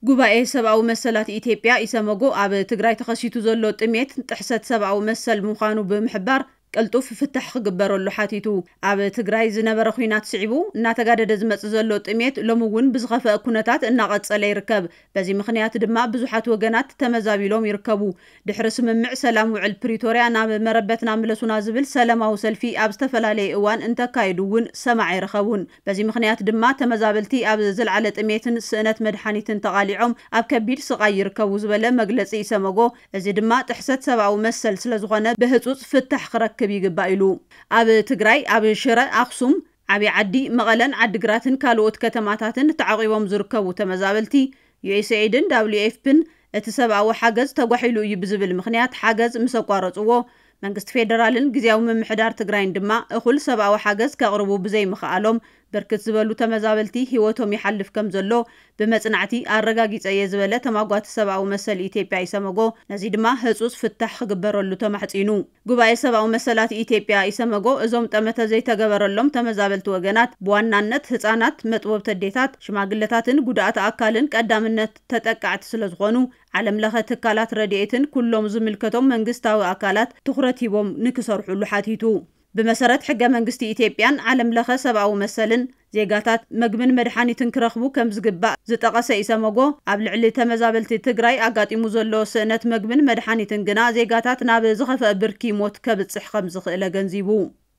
ጉባኤ ሰብኣዊ መሰላት ኢትዮጵያ ኢሰመጎ ኣብ ትግራይ ተኸሲቱ ዘሎ ጥሜት ጥሕሰት ሰብኣዊ መሰል ምዃኑ ብምሕባር ቅልጡፍ ፍታሕ ክግበረሉ ሓቲቱ። ኣብ ትግራይ ዝነበረ ኲናት ስዒቡ እናተጋደደ ዝመጽእ ዘሎ ጥሜት ሎሚ እውን ብዝኸፈአ ኩነታት እናቐጸለ ይርከብ። በዚ ምኽንያት ድማ ብዙሓት ወገናት ተመዛቢሎም ይርከቡ። ድሕሪ ስምምዕ ሰላም ውዕል ፕሪቶርያ ናብ መረበትና ምለሱና ዝብል ሰላማዊ ሰልፊ ኣብ ዝተፈላለየ እዋን እንተካየዱ እውን ሰማዕ ኣይረኸቡን። በዚ ምኽንያት ድማ ተመዛበልቲ ኣብ ዝለዓለ ጥሜትን ስእነት መድሓኒትን ተቓሊዖም ኣብ ከቢድ ስቓይ ይርከቡ ዝበለ መግለፂ ኢሰመጎ፣ እዚ ድማ ጥሕሰት ሰብኣዊ መሰል ስለዝኾነ ብህፁፅ ፍታሕ ክረክብ ይግባእ ኢሉ። ኣብ ትግራይ ኣብ ሽረ፣ ኣኽሱም፣ ዓብዪ ዓዲ፣ መቐለን ዓዲግራትን ካልኦት ከተማታትን ተዓቒቦም ዝርከቡ ተመዛበልቲ ዩኤስኤይድን ዳብሊዩ ኤፍፒን እቲ ሰብኣዊ ሓገዝ ተጓሒሉ እዩ ብዝብል ምኽንያት ሓገዝ ምስ ኣቋረፅዎ፣ መንግስቲ ፌደራልን ግዝያዊ ምምሕዳር ትግራይን ድማ እኹል ሰብኣዊ ሓገዝ ከቕርቡ ብዘይምኽኣሎም ብርክት ዝበሉ ተመዛበልቲ ህይወቶም ይሓልፍ ከም ዘሎ ብመጽናዕቲ ኣረጋጊጸ እየ ዝበለ ተማጓቲ ሰብኣዊ መሰል ኢትዮጵያ ኢሰመጎ፣ ነዚ ድማ ህጹጽ ፍታሕ ክግበረሉ ተማሕጺኑ። ጉባኤ ሰብኣዊ መሰላት ኢትዮጵያ ኢሰመጎ እዞም ጠመተ ዘይተገበረሎም ተመዛበልቲ ወገናት ብዋናነት ህጻናት፣ መጥቦብቲ ኣዴታት፣ ሽማግለታትን ጉድኣት ኣካልን ቀዳምነት ተጠቃዕቲ ስለዝኾኑ ዓለም ለኸ ትካላት ረድኤትን ኩሎም ዝምልከቶም መንግስታዊ ኣካላት ትኹረት ሂቦም ንክሰርሑሉ ሓቲቱ። ብመሰረት ሕገ መንግስቲ ኢትዮጵያን ዓለም ለኸ ሰብኣዊ መሰልን ዜጋታት መግብን መድሓኒትን ክረኽቡ ከም ዝግባእ ዝጠቐሰ ኢሰመጎ፣ ኣብ ልዕሊ ተመዛበልቲ ትግራይ ኣጋጢሙ ዘሎ ስእነት መግብን መድሓኒትን ግና ዜጋታት ናብ ዝኸፍአ ብርኪ ሞት ከብፅሕ ከም ዝኽእል ኣገንዚቡ።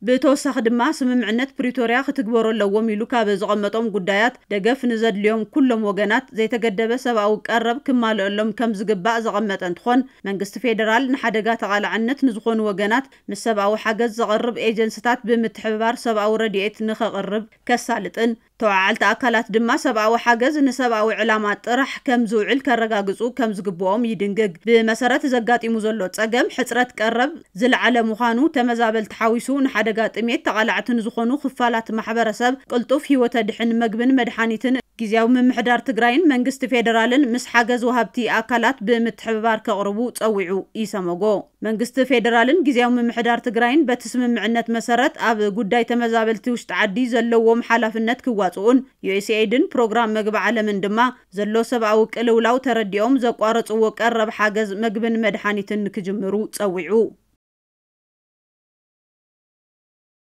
ብተወሳኺ ድማ ስምምዕነት ፕሪቶርያ ክትግበሩ ኣለዎም ኢሉ ካብ ዘቐመጦም ጉዳያት ደገፍ ንዘድልዮም ኩሎም ወገናት ዘይተገደበ ሰብኣዊ ቀረብ ክማልአሎም ከም ዝግባእ ዘቐመጠ እንትኾን፣ መንግስቲ ፌደራል ንሓደጋ ተቓላዕነት ንዝኾኑ ወገናት ምስ ሰብኣዊ ሓገዝ ዘቕርብ ኤጀንስታት ብምትሕብባር ሰብኣዊ ረድኤት ንኸቕርብ ከሳልጥን፣ ተወዓዓልቲ ኣካላት ድማ ሰብኣዊ ሓገዝ ንሰብኣዊ ዕላማ ጥራሕ ከም ዝውዕል ከረጋግጹ ከም ዝግብኦም ይድንግግ። ብመሰረት ዘጋጢሙ ዘሎ ጸገም ሕጽረት ቀረብ ዝለዓለ ምዃኑ ተመዛበልቲ ሓዊሱ ንሓደጋ ጥሜት ተቓላዕቲ ንዝኾኑ ክፋላት ማሕበረሰብ ቅልጡፍ ህይወት ኣድሕን መግብን መድሓኒትን ግዝያዊ ምምሕዳር ትግራይን መንግስቲ ፌደራልን ምስ ሓገዝ ወሃብቲ ኣካላት ብምትሕብባር ከቕርቡ ጸዊዑ ኢሰመጎ። መንግስቲ ፌደራልን ግዝያዊ ምምሕዳር ትግራይን በቲ ስምምዕነት መሰረት ኣብ ጉዳይ ተመዛበልቲ ውሽጢ ዓዲ ዘለዎም ሓላፍነት ክዋፅኡን ዩኤስኤይድን ፕሮግራም መግቢ ዓለምን ድማ ዘሎ ሰብኣዊ ቅልውላው ተረዲኦም ዘቋረፅዎ ቀረብ ሓገዝ መግብን መድሓኒትን ክጅምሩ ጸዊዑ።